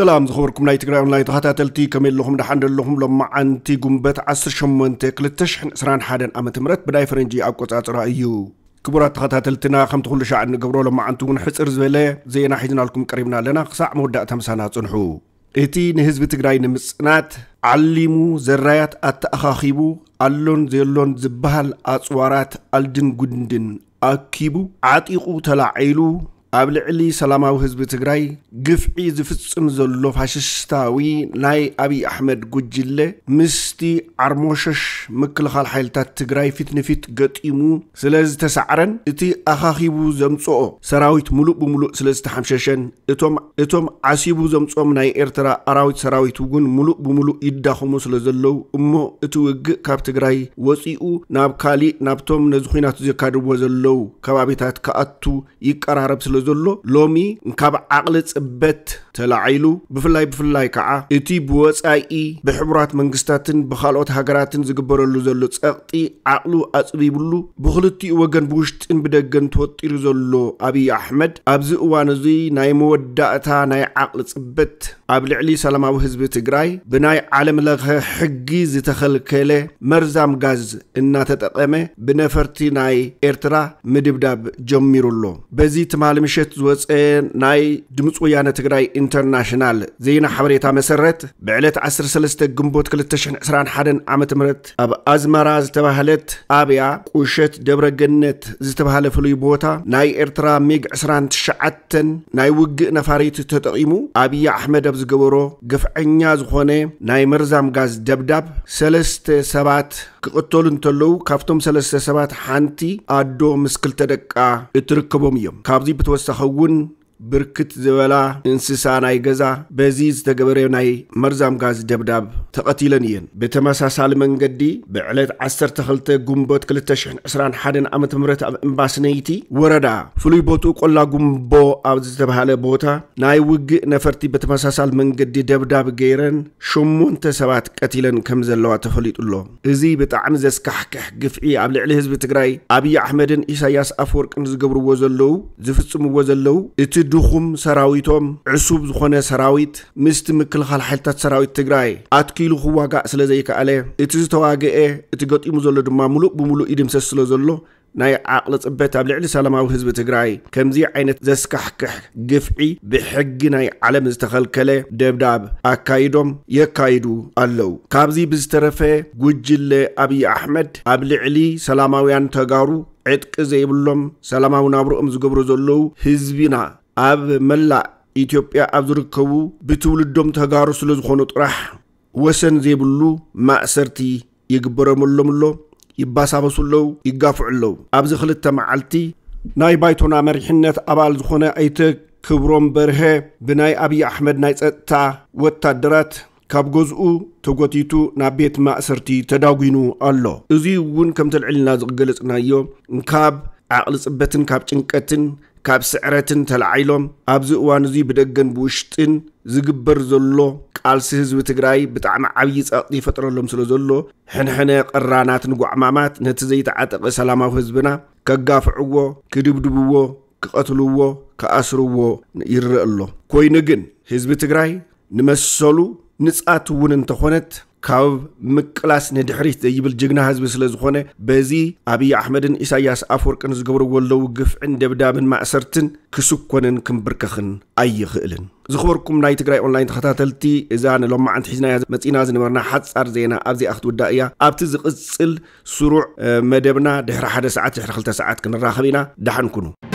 ሰላም ዝኸበርኩም ናይ ትግራይ ኦንላይን ተኸታተልቲ፣ ከመይ ኣለኹም? ደሓን ዶ ኣለኹም? ሎማዓንቲ ጉንበት ዓሰርተ ሸሞንተ ክልተ ሽሕን ዕስራን ሓደን ዓመተ ምህረት ብናይ ፈረንጂ ኣቆጻጽራ እዩ። ክቡራት ተኸታተልትና፣ ከምቲ ኩሉ ሻዕ እንገብሮ፣ ሎማዓንቲ እውን ሕጽር ዝበለ ዜና ሒዝናልኩም ቀሪብና ኣለና። ክሳዕ መወዳእታ ምሳና ጽንሑ። እቲ ንህዝቢ ትግራይ ንምጽናት ዓሊሙ፣ ዘራያት ኣተኣኻኺቡ፣ ኣሎን ዘየሎን ዝበሃል ኣጽዋራት ኣልድን ጉንድን ኣኪቡ፣ ዓጢቑ ተላዒሉ፣ ኣብ ልዕሊ ሰላማዊ ህዝቢ ትግራይ ግፍዒ ዝፍጽም ዘሎ ፋሽስታዊ ናይ ኣብይ ኣሕመድ ጉጅለ፣ ምስቲ ዓርሞሸሽ ምክልኻል ሓይልታት ትግራይ ፊት ንፊት ገጢሙ ስለ ዝተሳዕረን፣ እቲ ኣኻኺቡ ዘምጽኦ ሰራዊት ሙሉእ ብሙሉእ ስለ ዝተሓምሸሸን፣ እቶም፣ እቶም ዓሲቡ ዘምጾም ናይ ኤርትራ ኣራዊት ሰራዊት እውን ሙሉእ ብሙሉእ ይዳኸሙ ስለ ዘለዉ እሞ፣ እቲ ውግእ ካብ ትግራይ ወጺኡ ናብ ካሊእ፣ ናብቶም ነዚ ኹናት ዘካድዎ ዘለዉ ከባቢታት ክኣቱ ይቀራረብ ስለ ዘሎ፣ ሎሚ ካብ ዓቕሊ ጽበት ተላዒሉ፣ ብፍላይ፣ ብፍላይ ከዓ እቲ ብወጻኢ ብሕቡራት መንግስታትን ብኻልኦት ሃገራትን ዝግበረሉ ዘሎ ጸቕጢ ዓቕሉ ኣጽቢብሉ፣ ብኽልቲኡ ወገን ብውሽጥን ብደገን ተወጢሩ ዘሎ ኣብይ ኣሕመድ፣ ኣብዚ እዋን እዚ ናይ መወዳእታ ናይ ዓቕሊ ጽበት ኣብ ልዕሊ ሰላማዊ ህዝቢ ትግራይ ብናይ ዓለም ለኸ ሕጊ ዝተኸልከለ መርዛም ጋዝ እናተጠቐመ ብነፈርቲ ናይ ኤርትራ ምድብዳብ ጀሚሩ ኣሎ። በዚ ትማሊ ምሸት ዝወፀ ናይ ድምፂ ወያነ ትግራይ ኢንተርናሽናል ዜና ሓበሬታ መሰረት፣ ብዕለት ዓሰርተ ሰለስተ ግንቦት ክልተ ሽሕን ዕስራን ሓደን ዓመተ ምህረት ኣብ ኣዝመራ ዝተባህለት ጣብያ ቁሸት ደብረ ገነት ዝተባህለ ፍሉይ ቦታ ናይ ኤርትራ ሚግ ዕስራን ትሽዓተን ናይ ውግእ ነፋሪት ተጠቒሙ ኣብይ ኣሕመድ ኣብ ዝገበሮ ግፍዐኛ ዝኾነ ናይ መርዛም ጋዝ ደብዳብ ሰለስተ ሰባት ክቕተሉ እንተለዉ፣ ካብቶም ሰለስተ ሰባት ሓንቲ ኣዶ ምስ ክልተ ደቃ እትርከቦም እዮም። ካብዚ ብተወሳኺ እውን ብርክት ዝበላ እንስሳ ናይ ገዛ በዚ ዝተገበረ ናይ መርዛም ጋዝ ደብዳብ ተቐቲለን እየን። ብተመሳሳሊ መንገዲ ብዕለት ዓሰርተ ክልተ ግንቦት ክልተ ሽሕን ዕስራን ሓደን ዓመተ ምህረት ኣብ እምባስነይቲ ወረዳ ፍሉይ ቦትኡ ቆላ ጉምቦ ኣብ ዝተባሃለ ቦታ ናይ ውግእ ነፈርቲ ብተመሳሳሊ መንገዲ ደብዳብ ገይረን ሸሞንተ ሰባት ቀቲለን ከም ዘለዋ ተፈሊጡ ኣሎ። እዚ ብጣዕሚ ዘስካሕክሕ ግፍዒ ኣብ ልዕሊ ህዝቢ ትግራይ ኣብይ ኣሕመድን ኢሳያስ ኣፈወርቅን ዝገብርዎ ዘለዉ፣ ዝፍጽምዎ ዘለዉ፣ እቲ ድኹም ሰራዊቶም፣ ዕሱብ ዝኾነ ሰራዊት ምስቲ ምክልኻል ሓይልታት ሰራዊት ትግራይ ኣትኪሉ ክዋጋእ ስለ ዘይከኣለ፣ እቲ ዝተዋግአ፣ እቲ ገጢሙ ዘሎ ድማ ሙሉእ ብሙሉእ ይድምሰስ ስለ ዘሎ፣ ናይ ዓቕሊ ጽበት ኣብ ልዕሊ ሰላማዊ ህዝቢ ትግራይ ከምዚ ዓይነት ዘስካሕክሕ ግፍዒ ብሕጊ ናይ ዓለም ዝተኸልከለ ደብዳብ ኣካይዶም የካይዱ ኣለዉ። ካብዚ ብዝተረፈ ጉጅለ ኣብይ ኣሕመድ ኣብ ልዕሊ ሰላማውያን ተጋሩ ዕጥቂ ዘይብሎም ሰላማዊ ናብርኦም ዝገብሩ ዘለዉ ህዝቢና ኣብ መላእ ኢትዮጵያ ኣብ ዝርከቡ ብትውልዶም ተጋሩ ስለ ዝኾኑ ጥራሕ ወሰን ዘይብሉ ማእሰርቲ ይግበረሎም ኣሎ፣ ይባሳበሱ ኣለዉ፣ ይጋፍዑ ኣለዉ። ኣብዚ ክልተ መዓልቲ ናይ ባይቶና መሪሕነት ኣባል ዝኾነ ኣይተ ክብሮም በርሀ ብናይ ኣብይ ኣሕመድ ናይ ጸጥታ ወታደራት ካብ ገዝኡ ተጎቲቱ ናብ ቤት ማእሰርቲ ተዳጒኑ ኣሎ። እዚ እውን ከምቲ ልዕልና ዝገለጽናዮ ካብ ዓቕሊ ጽበትን ካብ ጭንቀትን ካብ ስዕረትን ተላዒሎም ኣብዚ እዋን እዚ ብደገን ብውሽጥን ዝግበር ዘሎ ቃልሲ ህዝቢ ትግራይ ብጣዕሚ ዓብዪ ጸቕጢ ይፈጥረሎም ስለ ዘሎ ሕንሕነ ቀራናት ንጓዕማማት ነቲ ዘይተዓጠቐ ሰላማዊ ህዝብና ከጋፍዕዎ፣ ክድብድብዎ፣ ክቐትልዎ፣ ክኣስርዎ ይረአ ኣሎ። ኮይኑ ግን ህዝቢ ትግራይ ንመሰሉ ንጻት እውን እንተኾነት ካብ ምቅላስ ንድሕሪት ዘይብል ጅግና ህዝቢ ስለ ዝኾነ በዚ ኣብይ ኣሕመድን ኢሳያስ ኣፈወርቅን ዝገብርዎ ኣለዉ ግፍዕን ደብዳብን ማእሰርትን ክስኮንን ክምብርከኽን ኣይኽእልን። ዝኽበርኩም ናይ ትግራይ ኦንላይን ተኸታተልቲ፣ እዛ ንሎማዓንቲ ሒዝናያ መጺና ዝነበርና ሓጻር ዜና ኣብዚኣ ክትውዳእ እያ። ኣብቲ ዝቕጽል ስሩዕ መደብና ድሕሪ ሓደ ሰዓት ድሕሪ ክልተ ሰዓት ክንራኸብ ኢና። ደሓን ኩኑ።